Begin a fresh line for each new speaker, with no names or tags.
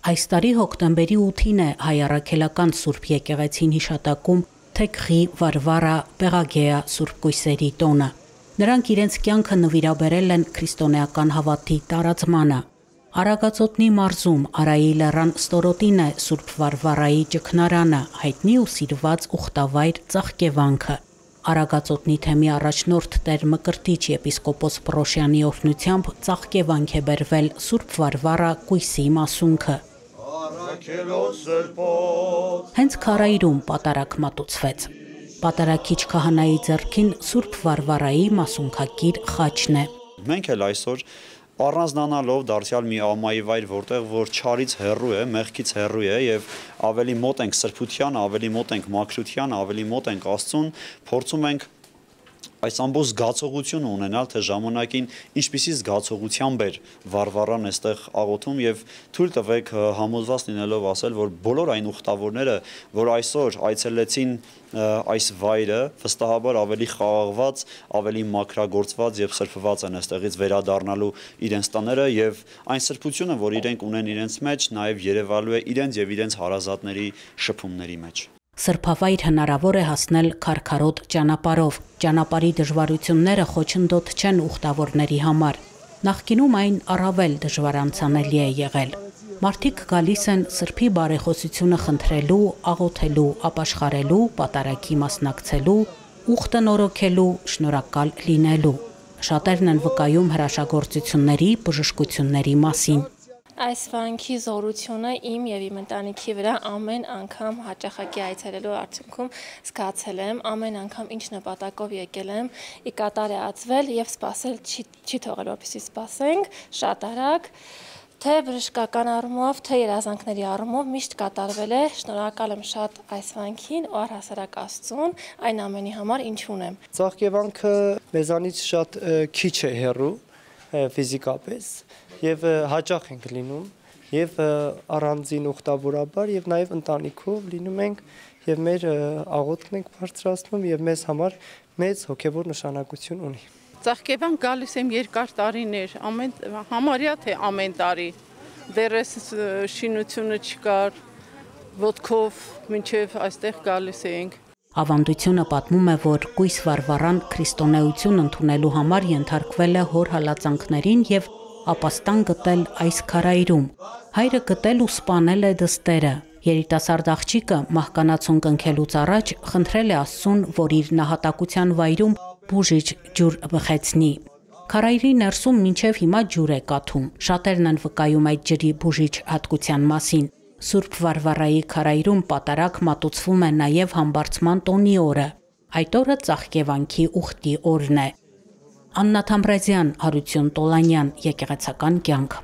Այս տարի հոկտեմբերի 8-ին է հայ առաքելական Սուրբ եկեղեցին հիշատակում Թեքղի Վարվարա Պեղագեա Սուրբ Կույսերի տոնը։ Նրանք իրենց կյանքը նվիրաբերել են քրիստոնեական հավատի տարածմանը։ Արագածոտնի մարզում Արայի լեռան ստորոտին է Սուրբ Վարվարայի ճգնարանը, հայտնի ու սիրված ուխտավայր Ծաղկևանքը։ Արագածոտնի թեմի առաջնորդ Տեր Մկրտիչ եպիսկոպոս Պռոշյանի օրհնությամբ Ծաղկևանք է բերվել Սուրբ Վարվարա Կույսի մասունքը։ Հենց քարայրում պատարագ մատուցվեց։ Պատարագիչ քահանայի ձեռքին Սուրբ Վարվարայի մասունքակիր խաչն է։
Մենք էլ այսօր առանձնանալով դարձյալ մի ամայի վայր, որտեղ որ չարից հեռու է, մեղքից հեռու է եւ ավելի մոտ ենք սրբության, ավելի մոտ ենք մաքրության, ավելի մոտ ենք Աստծուն, փորձում ենք այս ամբողջ զգացողությունը ունենալ, թե ժամանակին ինչպիսի զգացողությամբ էր Վարվարան այստեղ աղոթում եւ թույլ տվեք համոզված լինելով ասել, որ բոլոր այն ուխտավորները, որ այսօր այցելեցին այս վայրը, վստահաբար ավելի խաղաղված, ավելի մաքրագործված եւ սրբված են այստեղից վերադառնալու իրենց տները եւ այն սրբությունը, որ իրենք ունեն իրենց մեջ, նաեւ երևալու է իրենց եւ իրենց հարազատների շփումների մեջ։
Սրբավայր հնարավոր է հասնել քարքարոտ ճանապարհով։ Ճանապարհի դժվարությունները խոչընդոտ չեն ուխտավորների համար։ Նախկինում այն առավել դժվարանցանելի է եղել։ Մարդիկ գալիս են սրբի բարեխոսությունը խնդրելու, աղոթելու, ապաշխարելու, պատարագի մասնակցելու, ուխտը նորոգելու, շնորհակալ լինելու։ Շատերն են վկայում հրաշագործությունների, բժշկությունների մասին։
Այս վանքի զորությունը իմ եւ իմ ընտանիքի վրա ամեն անգամ հաճախակի այցելելու արդյունքում զգացել եմ, ամեն անգամ ինչ նպատակով եկել եմ, ի կատար է ածվել եւ սпасել չի թողել, որպեսզի սпасենք, շատ արագ, թե բժշկական առումով, թե երազանքների առումով միշտ կատարվել է։ Շնորհակալ եմ շատ այս վանքին, ու առհասարակ Աստծուն, այն ամենի համար, ինչ ունեմ։
Ծաղկևանքը մեզանից շատ քիչ է հեռու ֆիզիկապես եւ հաճախ ենք լինում եւ առանձին ուխտավորաբար եւ նաեւ ընտանիքով լինում ենք եւ մեր աղոթքն ենք բարձրացնում եւ մեզ համար մեծ հոգեվոր նշանակություն ունի։
Ծաղկևան գալիս եմ երկար տարիներ, համարյա թե ամեն տարի, դեռ շինությունը չկար, ոտքով մինչև այստեղ գալիս ենք։
Ավանդությունը պատմում է, որ Կույս Վարվարան քրիստոնեություն ընդունելու համար ենթարկվել է հոր հալածանքներին եւ ապաստան գտել այս քարայրում։ Հայրը գտել ու սպանել է դստերը։ Երիտասարդ աղջիկը մահկանացուն կնքելուց առաջ խնդրել է Աստծուն, որ իր նահատակության վայրում բուժիչ ջուր բխեցնի։ Քարայրի ներսում մինչև հիմա ջուր է կաթում։ Շատերն են վկայում այդ ջրի բուժիչ հատկության մասին։ Սուրբ Վարվարայի քարայրում պատարագ մատուցվում է նաև համբարձման տոնի օրը։ Այդ օրը Ծաղկևանքի ուխտի օրն է։ Աննա Թամրազյան, Հարություն Տոլանյան, Եկեղեցական կյանք։